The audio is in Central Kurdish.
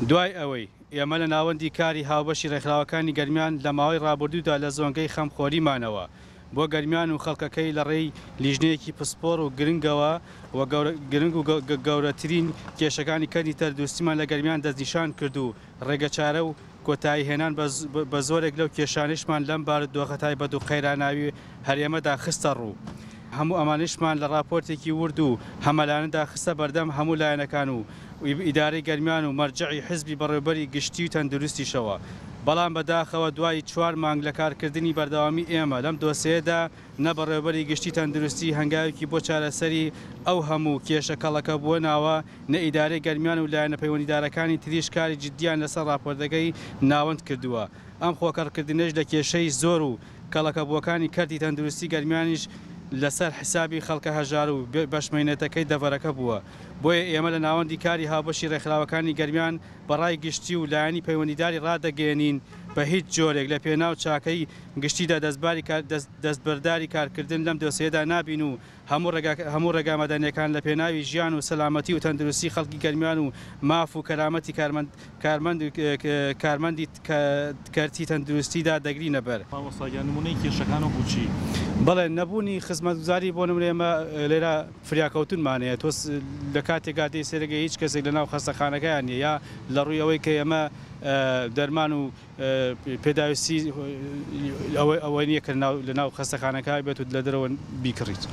دوای ئەوەی ئێمە لە ناوەندی کاری هاوبەشی ڕێکخراوەکانی گەرمیان لە ماوەی ڕابردوودا لە زۆنگەی خەمخۆریمانەوە بۆ گەرمیان و خەڵکەکەی لە ڕێی لیژنەیەکی پسپۆڕ و گرنگەوە و گرنگ و گەورەترین کێشەکانی کەرتی تەندروستیمان لە گەرمیان دەستنیشان کرد و ڕێگەچارە و کۆتایی هێنان بە زۆرێک لەو کێشانەیشمان لەم بارودۆخە تایبەت و قەیراناوی هەرێمەدا خستە ڕوو. هەموو ئەمانەیشمان لە ڕاپۆرتێکی ورد و هەمەلایەنەدا خستە بەردەم هەموو لایەنەکان و ئیدارەی گەرمیان و مەرجەعی حزبی بەڕێوبەری گشتی و تەندروستیشەوە. بەڵام بەداخەوە دوای چوار مانگ لە کارکردنی بەردەوامی ئێمە لەم دۆسێیەدا نە بەڕێوبەری گشتی تەندروستی هەنگاوێکی بۆ چارەسەری ئەو هەموو کێشە کەڵەکەبووە ناوە، نە ئیدارەی گەرمیان و لایەنە پەیوەندیدارەکانی تریش کاری جدییان لەسەر ڕاپۆرتەکەی ناوەند کردووە. ئەم خۆکەڕکردنەیش لە کێشەی زۆر و کەڵەکەبووەکانی کەرتی تەندروستی گەرمیانیش لەسەر حسابی خەڵکە هەژار و بەشمەینەتەکەی دەڤەرەکە بووە. بۆیە ئێمە لە ناوەندی کاری هاوبەشی ڕێکخراوەکانی گەرمیان بە ڕای گشتی و لایەنی پەیوەندیداری ڕادەگەیەنین بە هیچ جۆرێک لە پێناو چاکەی گشتیدا دەستبەرداری کارکردن لەم دۆسێیەدا نابین و هەموو ڕێگا مەدەنیەکان لە پێناوی ژیان و سەلامەتی و تەندروستی خەڵکی گەرمیان و ماف و کەرامەتی کارمەندی کەرتی تەندروستیدا دەگرینە بەر. مامۆستا گیان نمونەی کێشەکان وەکو چی؟ بەڵێ نەبوونی خزمەتگوزاری بۆ نمونە ئێمە لێرە فریاکەوتنمان هەیە تۆ لە کاتێکا دێی سەیرەکەی هیچ کەسێک لەناو خەستەخانەکەیان نیە یا لە ڕووی ئەوەی کە ئێمە دەرمان و پێداویستی ئەوە نیە کە لەناو خەستەخانەکە بێت و لە دەرەوە بیکڕیت.